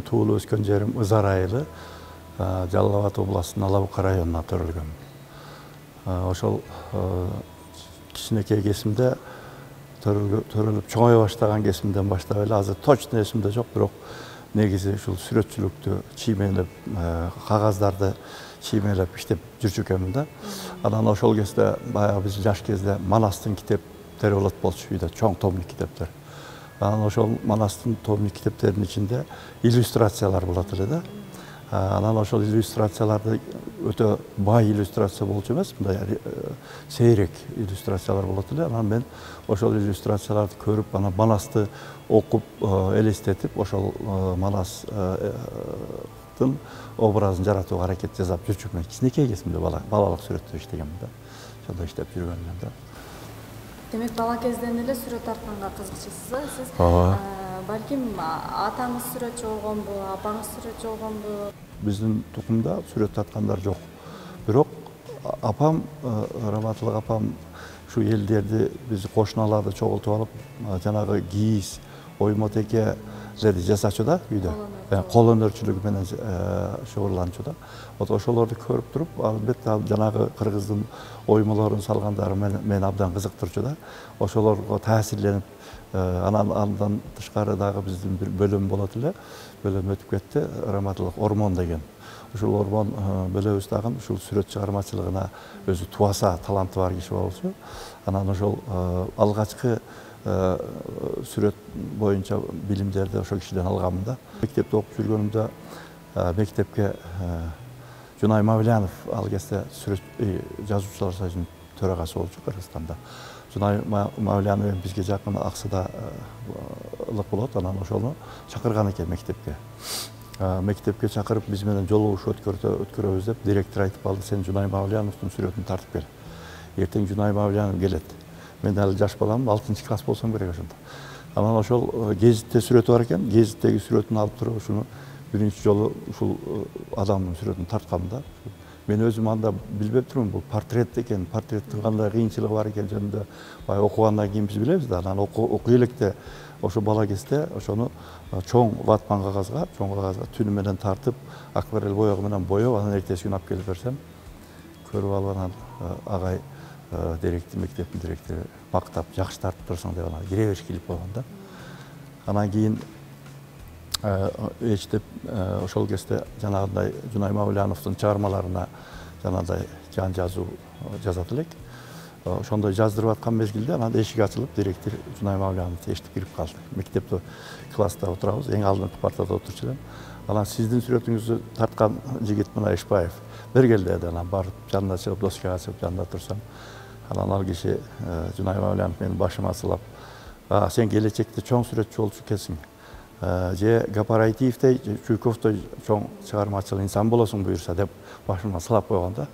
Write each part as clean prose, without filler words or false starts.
туулуп өскөн жерим Ызар айылы, Жалал Абад областынын Алабука районуна төрөлгөм. Ошол кичинекей кезимде төрөлүп чоңое баштаган кезимден баштап эле азыр точно эсимде жок, бирок негизи ушул сүрөтчүлүктү чиймелеп, кагаздарды чиймелеп иштеп жүрчү экенмин да. Анан ошол кезде баягы биз жаш кезде Манастын китептери болот болчу, үйдө чоң томдук китептер. Анан ошол Манастын томдук китептеринин ичинде иллюстрациялар болот эле да. Анан ошол иллюстрацияларды өтө бай иллюстрация болчу эмес, мындай сейрек иллюстрациялар болот эле. Анан мен ошол иллюстрацияларды көрүп, анан Манасты окуп, элестетип, ошол Манастын образын жаратууга аракет жасап жүрчүмүн. Кичинекей кезимде балалык сүрөттө иштегенмин да. Ошондо иштеп жүргөнмүн да. Демек, бала кезден эле сүрөт тартканга кызыкчысыз. Сиз балким атаңыз сүрөтчү болгонбу, апаңыз сүрөтчү болгонбу? Биздин тукумда сүрөт тарткандар жок. Бирок апам, Раматылык апам ушу элдерди, биз кошуналарды чогултуп алып, жанагы кийиз, оймотекелерди жасачу да үйдө. Кол өнөрчүлүгү менен шугурланчу да. Ошолорду көрүп туруп, албетте жанагы кыргыздын оймолорун салгандары мени абдан кызыктырчу да. Ошолорго таасирленип, андан тышкары дагы биздин бир бөлүм болот эле. Бөлүм өтүп кетти, Раматылык Ормон деген. Ушул Ормон бөлөбүз дагы ушул сүрөт чыгармачылыгына өзү туаса таланты бар киши болчу. Анан ошол алгачкы сүрөт боюнча билимдерди ошол кишиден алганмын да. Мектепте окуп жүргөнүмдө мектепке Жунай Мавлянов ал кезде сүрөт жазуучулар союзунун төрагасы болчу Кыргызстанда. Жунай Мавлянов бизге жакын Аксыдалык болот, анан ошону чакырган экен мектепке. Мектепке чакырып биз менен жолугушуу өткөрөбүз деп директор айтып калды: "Сен Жунай Мавляновдун сүрөтүн тартып кел. Эртең Жунай Мавлянов келет." Мен дагы жаш баламын, 6-класс болсом керек ошондо. Анан ошол гезитте сүрөтү бар экен, гезиттеги сүрөтүн алып туруп ушуну биринчи жолу ушул адамдын сүрөтүн тарткам да. Мен өзүм анда билбеп турмун, бул портрет экен, портреттин кандай кыйынчылыгы бар экен жөнүндө бай окугандан кийин биз билебиз да. Анан окуй электе ошо бала кезде ошону чоң ватман кагазга, түнү менен тартып, акварель боёгу менен боеп, анан эртеси күнү алып келип берсем, көрүп алып анан агай мектептин директору мактап, жакшы тартып турсуң деп анан кире бериш килип койгон да. Анан кийин эчтеп ошол кезде жанагындай Жунай Мавляновдун чыгармаларына жанагындай жан жазуу жазат элек. Ошондой жаздырып аткан мезгилде анан эшик ачылып, директор Жунай Мавляновду эшитип кирип калды. Мектепте класста отурабыз, эң алдыңкы партада отурчу элем. Анан сиздин сүрөтүңүздү тарткан жигит мына Ишбаев, бергел деди. Анан барып жанына чыгып, доскага чыгып жанында турсам, анан ал киши Жунай Мавлянов менин башыма сылап: "Сен келечекте чоң сүрөтчү болчу экенсиң. Же Гапарайтиевдей, Чуйковдой чоң чыгармачыл инсан болосуң буюрса" деп башыма сылап койгон да.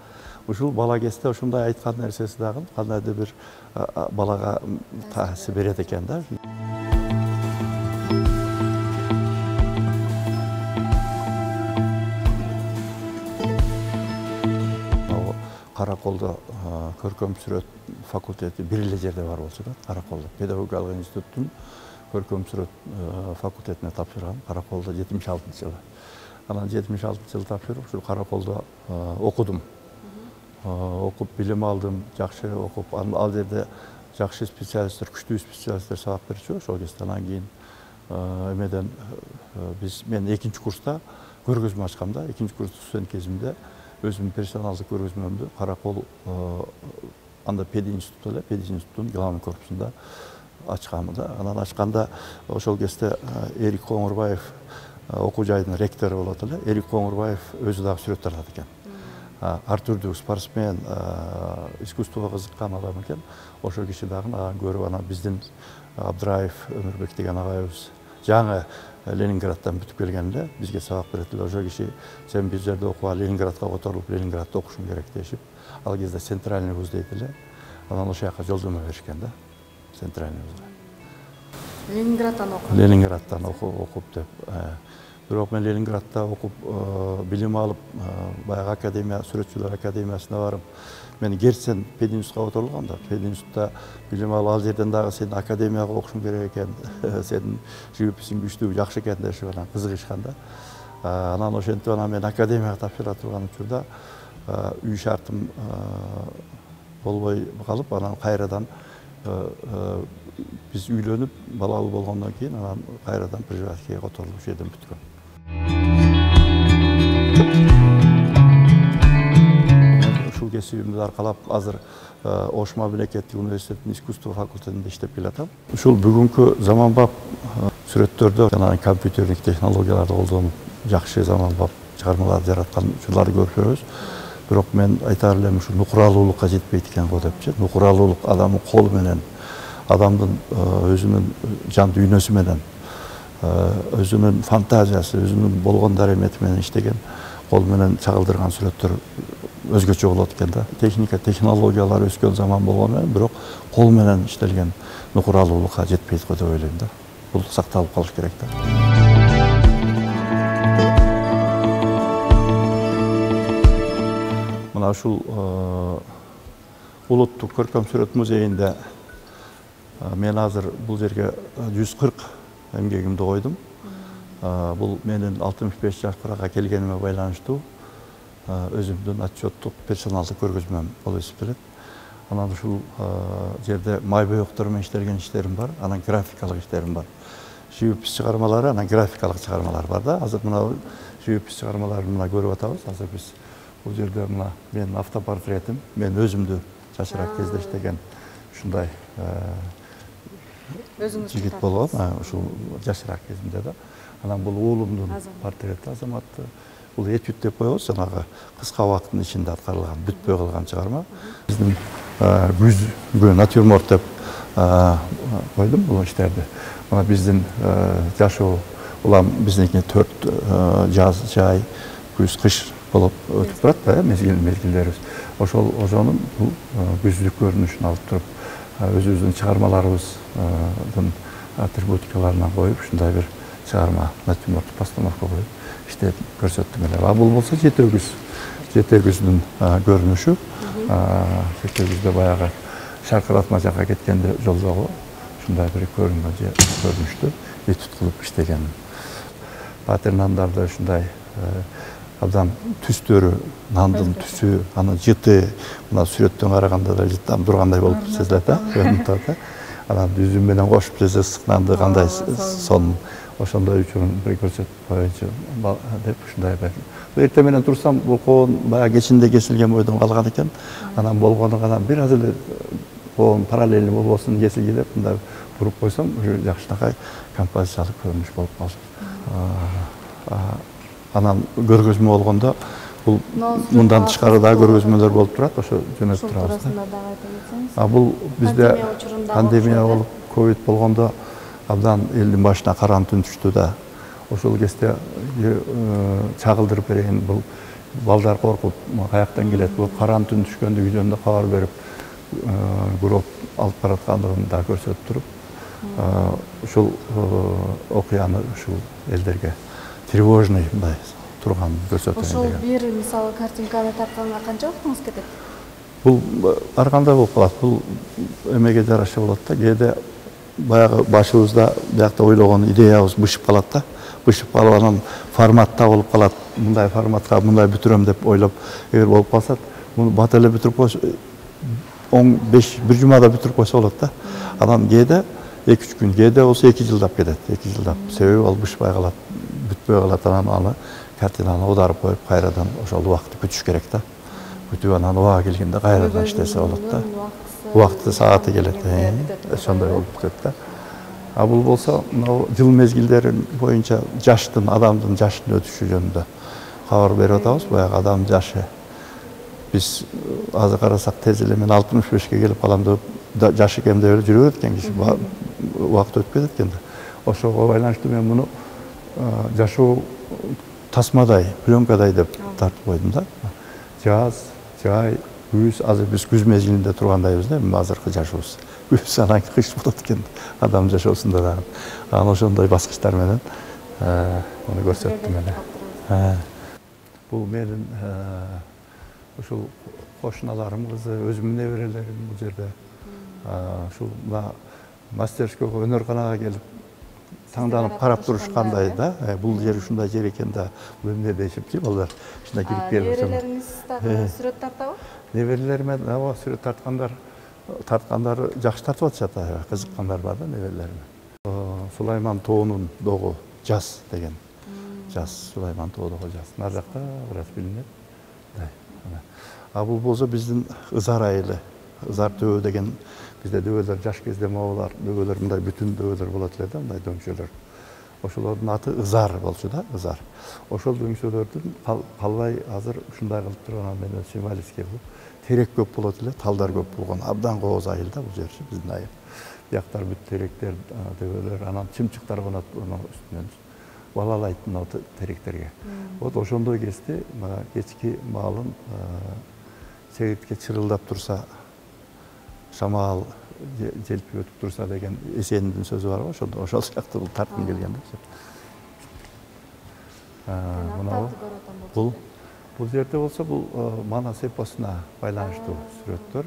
Ушул бала кезде ушундай айткан нерсеси дагы кандайдыр бир балага таасир берет экен да. Караколдо көркөм сүрөт факультети бир эле жерде бар болчу да, Караколдо. Педагогикалык институттун көркөм сүрөт факультетине тапшыргам, Караколдо 76-жылы. Анан 76-жылы тапшырып, ушул Караколдо окудум. Окуп билим алдым, жакшы окуп, ал жерде жакшы специалисттер, күчтүү специалисттер сабак берчү. Ошол кезде анан кийин эмеден мен 2-курста көргөзмө ачкам да. 2-курста студент кезимде өзүмдүн персоналдык көргөзмөмдү Каракол анда пединститут эле, пединституттун главный корпусунда ачкам да. Анан ачканда ошол кезде Эрик Коңурбаев окуу жайдын ректору болот эле. Эрик Коңурбаев өзү дагы сүрөт тартат экен. Ар түрдүү спортсмен, искусствого кызыккан адам экен. Ошол киши дагы көрүп, анан биздин Абдыраев Өмүрбек деген агайыбыз жаңы Ленинградтан бүтүп келген эле, бизге сабак берет эле. Ошол киши: "Сен бир жерде окуба, Ленинградка которулуп, Ленинградда окушуң керек" дешип, ал кезде Центральный вуз дейт эле. Анан ошол жака жолдомо беришкен да. Центральный вузга. Ленинградтан окуп. Ленинградтан окуп деп. Бирок мен Ленинградда окуп, билим алып, баягы академия, сүрөтчүлөр академиясына барып, мен Герцен пединститутка которулгам да. Пединститутта билим алып, ал жерден дагы сен академияга окушуң керек экен, сенин живописиң күчтүү, жакшы экен дешип анан кызыгышкан да. Анан ошентип анан мен академияга тапшыра турган учурда үй шартым болбой калып, анан кайрадан биз үйлөнүп, балалуу болгондон кийин анан кайрадан преживаткиге которулуп ушул жерден бүткөм. Ушул кесибимди аркалап азыр Ош мамлекеттик университетинин искусство факультетинде иштеп келатам. Ушул бүгүнкү заманбап сүрөттөрдө жана компьютердик технологияларды колдонуп жакшы заманбап чыгармаларды жараткан учурларды көрүп жүрөбүз. Бирок мен айтар элем ушу нукуралуулукка жетпейт экен го депчи. Нукуралуулук адамдын колу менен, адамдын өзүнүн жан дүйнөсү менен, өзүнүн фантазиясы, өзүнүн болгон даремети менен иштеген, кол менен чагылдырган сүрөттөр өзгөчө болот экен да. Техника, технологиялар өскөн заман болгону менен, бирок кол менен иштелген нукуралуулукка жетпейт го деп ойлойм да. Бул сакталып калыш керек да. Мына ушул улуттук көркөм сүрөт музейинде мен азыр бул жерге 140 эмгегимди койдум. Бул менин 65 жашка келгениме байланыштуу өзүмдүн отчеттук персоналдык көргөзмөм болуп эсептелет. Анан ушул жерде май боектор менен иштелген иштерим бар, анан графикалык иштерим бар. Живопис чыгармалары, анан графикалык чыгармалар бар да. Азыр мына живопис чыгармаларын мына көрүп атабыз. Азыр биз бул жерде мына менин автопортретим, мен өзүмдү жашыраак кезде иштеген ушундай жигит болгон, ушул жашыраак кезимде да. Анан бул уулумдун портрети Азаматты. Бул этюд деп коебуз, жанагы кыска убакыттын ичинде аткарылган, бүтпөй калган чыгарма. Биздин күзгө натюрморт деп койдум бул иштерди. Мына биздин жашоо улам биздики 4 жаз, жай, күз, кыш болуп өтүп турат да, мезгилдерибиз. Ошонун бул күздүк көрүнүшүн алып туруп, өзүбүздүн чыгармаларыбыздын атрибутикаларынан коюп, ушундай бир чыгарма, натюрмортту постановка коюп иштеп көрсөттүм эле. Бул болсо жете күздүн көрүнүшү. Жете күздө баягы шаркыратма жакка кеткенде жолдогу ушундай бир көрүнүштү этюд кылып иштеген. Патернандарды ушундай абдан түстөрү, нандын түсү, анын жыты, мына сүрөттөн караганда да жыттан тургандай болуп сезилет да, көрүнүп турат да. Анан үзүм менен кошуп жесе ысык нанды кандай сонун ошондой үчүн бир көрсөтүп коеюнчу деп ушундай бир. Эртең менен турсам, бул коон баягы кечинде кесилген бойдон калган экен. Анан болгону гана бир аз эле коон параллельный болбосун кесилги деп мындай буруп койсом, жакшынакай композициялык көрүнүш болуп калды. Анан көргөзмө болгондо бул мындан тышкары дагы көргөзмөлөр болуп турат, ошо жөнөтүп турабыз. Бул бизде пандемия болуп, ковид болгондо абдан элдин башына каран түн түштү да. Ошол кезде чагылдырып берейин, бул балдар коркуп, каяктан келет, бул каран түн түшкөндүгү жөнүндө кабар берип, гроб алып бараткандыгын да көрсөтүп туруп, ушул окуяны ушул элдерге тревожный мындай турган көрсөтөйүн деген. Ошол бир мисалы картинканы тартканга канча убактыңыз кетет? Бул ар кандай болуп калат. Бул эмеге жараша болот да. Кээде баягы башыбызда биякта ойлогон идеябыз бышып калат да. Бышып калып анан форматта болуп калат. Мындай форматка мындай бүтүрөм деп ойлоп, эгер болуп калса, муну бат эле бүтүрүп койсо, 15 бир жумада бүтүрүп койсо болот да. Анан кээде 2-3 күн, кээде болсо 2 жылдап кетет. 2 жылдап. Себеби ал бышпай калат, бүтпөй калат, анан аны картинаны аударып коюп, кайрадан ошол убакытты күтүш керек да. Күтүп анан убагы келгенде кайрадан иштесе болот да. Убакыты сааты келет. Ошондой болуп кетет да. Бул болсо, жыл мезгилдери боюнча жаштын, адамдын жашынын өтүшү жөнүндө кабар берип атабыз. Баягы адамдын жашы. Биз азыр карасак тез эле мен 65ке келип калам деп жаш экем деп эле жүрө берет экен киши. Убакыт өтүп кетет экен да. Ошого байланыштуу мен муну жашоо тасмадай, пленкадай деп тартып койдум да. Жаз, жай, күз, азыр биз күз мезгилинде тургандайбыз да, азыркы жашообуз. Күз анан кыш болот экен адам жашоосунда дагы. Анан ошондой баскычтар менен Муну көрсөттүм эле. Бул менин ушул кошуналарым кызы, өзүмдүн неберелерим бул жерде. Ушул мастерскойго, өнөрканага келип таңданып карап турушкандай да. Бул жер ушундай жер экен да, бул эмне дешипчи балдар. Ушундай кирип келип. Неберелериңиз дагы сүрөт тартабы? Неберелерим сүрөт тарткандар жакшы тартып атышат, кызыккандар бар да неберелерим. Сулайман тоонун догу жаз деген. Жаз, Сулайман тоодогу жаз. Нар жакта бираз билинет. Бул болсо биздин Ызар айылы. Ызар дөбө деген, бизде дөбөлөр жаш кезде могулар, дөбөлөр мындай бүтүн дөбөлөр болот эле да, мындай дөңчөлөр. Ошолордун аты Ызар болчу да, Ызар. Ошол дөңчөлөрдүн калбай азыр ушундай кылып турган менен символический кылып терек көп болот эле, талдар көп болгон. Абдан кооз айыл да бул жерчи, биздин айыл. Бияктар бүт теректер, дөбөлөр, анан чымчыктар конот үстүнөн. Балалайт мына теректерге. Вот ошондой кезде кечки маалын сегиртке чырылдап турса, шамал желпип өтүп турса деген Эсендин сөзү бар го, ошол сыяктуу тарткым келген да. Бул жерде болсо бул Манас эпосуна байланыштуу сүрөттөр.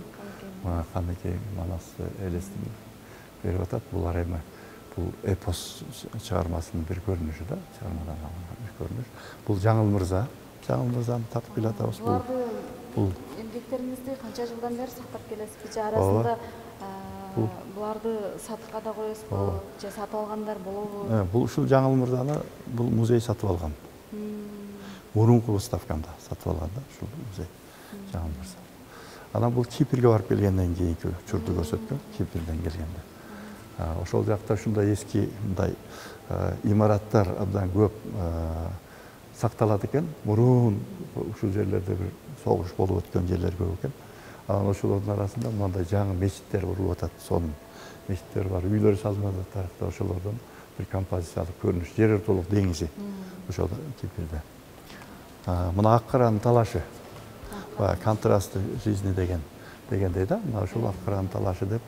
Каныкей Манасты элестирип берип атат. Булар эми бул эпос чыгармасынын бир көрүнүшү да, чыгармадан алынган бир көрүнүш. Бул Жаңыл Мырза. Жаңыл Мырзаны тартып келатабыз. Бул эмгектериңизди канча жылдан бери сактап келесизби? Же арасында буларды сатыкка да коесузбу? Же сатып алгандар болобу? Бул ушул Жаңыл Мырзаны бул музей сатып алган. Мурунку выставкамда сатып алган да, ушул музей Жаңыл Мырза. Анан бул Кипрге барып келгенден кийинки учурду көрсөткөн, Кипрден келгенде. Ошол жакта ушундай эски мындай имараттар абдан көп сакталат экен. Мурун ушул жерлерде бир согуш болуп өткөн жерлер көп экен. Анан ошолордун арасында мындай жаңы мечиттер курулуп атат. Сонун мечиттер бар, үйлөр салынып атат. Ошолордон бир композициялык көрүнүш, жер ортолук деңизи ошол Кипрде. Мына Ак Каранын талашы, контрастты жизни дегендей да. Мына ушул Ак Каранын талашы деп,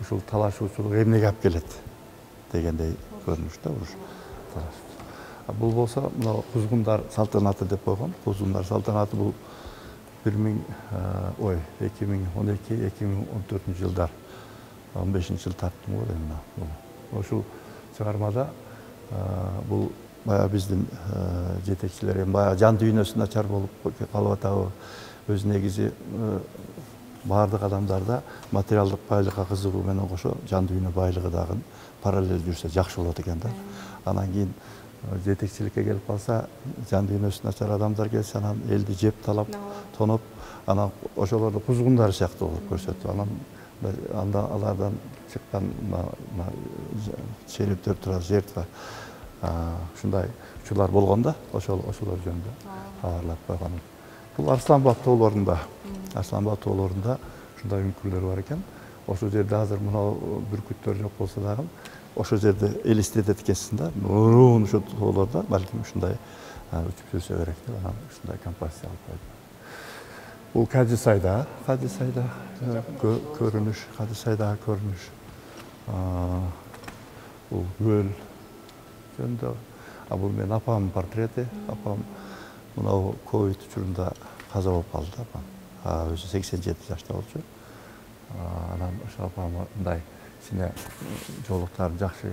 ушул талашуучулук эмнеге алып келет дегендей көрүнүш да ушу талаш. Бул болсо мына кузгундар салтанаты деп койгон. Кузгундар салтанаты бул 2012-2014 жылдар, 15 жыл тарттым го дейм. Ошол чыгармада бул бая биздин жетекчилер эми бая жан дүйнөсү начар болуп калып атабы. Өз негизи баардык адамдарда материалдык байлыкка кызыгуу менен кошо жан дүйнө байлыгы дагы параллель жүрсө жакшы болот экен да. Анан кийин жетекчиликке келип калса, жан дүйнөсү начар адамдар келсе, анан элди жеп талап, тоноп, анан ошолорду кузгундар сыяктуу кылып көрсөтүп, анан алардан чыккан черептер турат, жертва, ушундай учурлар болгон да, ошолор жөнүндө кабарлап койгон. Бул Арсланбаб тоолорунда ушундай үңкүрлөр бар экен. Ошол жерде азыр мына бүркүттөр жок болсо дагы, ошол жерде элестетет экенсиң да, мурун ошол тоолордо балким ушундай учуп жүрсө керек деп, анан ушундай композиция алып койдум. Бул Кадисайда көрүнүш, Кадисайдагы көрүнүш. Бул көл жөнүндө. Бул менин апамдын портрети. Апам мына ковид учурунда каза болуп калды да, апам. Өзү 87 жашта болчу. Анан ошо апам мындай кичине жолуктарын жакшы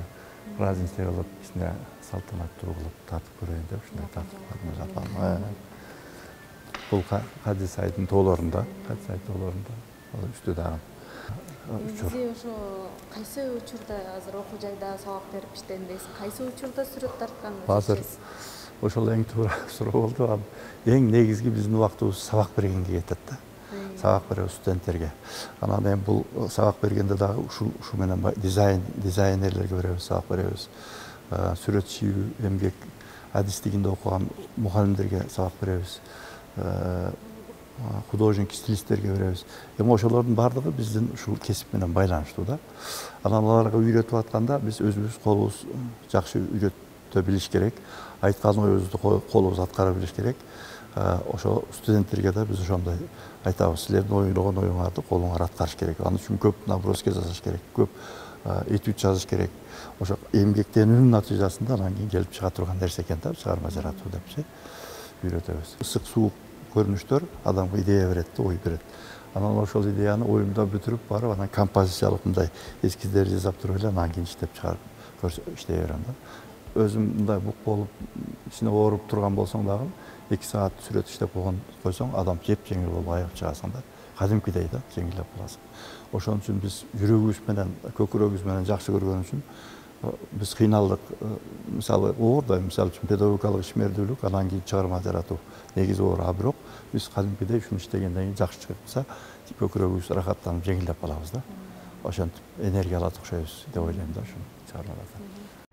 праздничный кылып, кичине салтанаттуу кылып тартып көрөйүн деп ушундай тартып койдум апам. Бул Кадисайдын тоолорунда, үстү дагы. Негизи ошо кайсы учурда азыр окуу жайда сабак берип иштейм дейсиз? Кайсы учурда сүрөт тартканыңызды азыр ошол эң туура суроо болду. Эң негизги биздин убактыбыз сабак бергенге кетет да. Сабак беребиз студенттерге. Анан эми бул сабак бергенде дагы ушу менен дизайнерлерге беребиз, сабак беребиз. Сүрөт чийүү, эмгек адистигинде окуган мугалимдерге сабак беребиз. Художник, стилисттерге беребиз. Эми ошолордун баардыгы биздин ушул кесип менен байланыштуу да. Анан аларга үйрөтүп атканда биз өзүбүз колубуз жакшы үйрөтө билиш керек. Айткан оюбузду колубуз аткара билиш керек. Ошо студенттерге да биз ошондой айтабыз. Силердин ойлогон оюңарды колуңар аткарыш керек. Ал үчүн көп наброски жасаш керек. Көп этюд жазыш керек. Ошо эмгектенүүнүн натыйжасында анан кийин келип чыга турган нерсе экен да, чыгарма жаратуу депчи үйрөтөбүз. Ысык суук көрүнүштөр адамга идея берет да, ой берет. Анан ошол идеяны оюмда бүтүрүп барып, анан композициялык мындай эскиздер жасап туруп эле анан кийин иштеп чыгарып иштей берем да. Өзүм мындай бук болуп, ичине ооруп турган болсоң дагы 2 саат сүрөт иштеп койсоң, адам жеп-жеңил болуп айыгып чыгасың да. Кадимкидей да, жеңилдеп каласың. Ошон үчүн биз жүрөгүбүз менен, көкүрөгүбүз менен жакшы көргөн үчүн биз кыйналдык. Мисалы оордай, мисалы үчүн педагогикалык ишмердүүлүк, анан кийин чыгарма жаратуу негизи оор. Бирок биз кадимкидей ушуну иштегенден кийин жакшы чыкса, көкүрөгүбүз рахаттанып жеңилдеп калабыз да. Ошентип энергия алат окшойбуз деп ойлойм да ушуну чыгармалардан.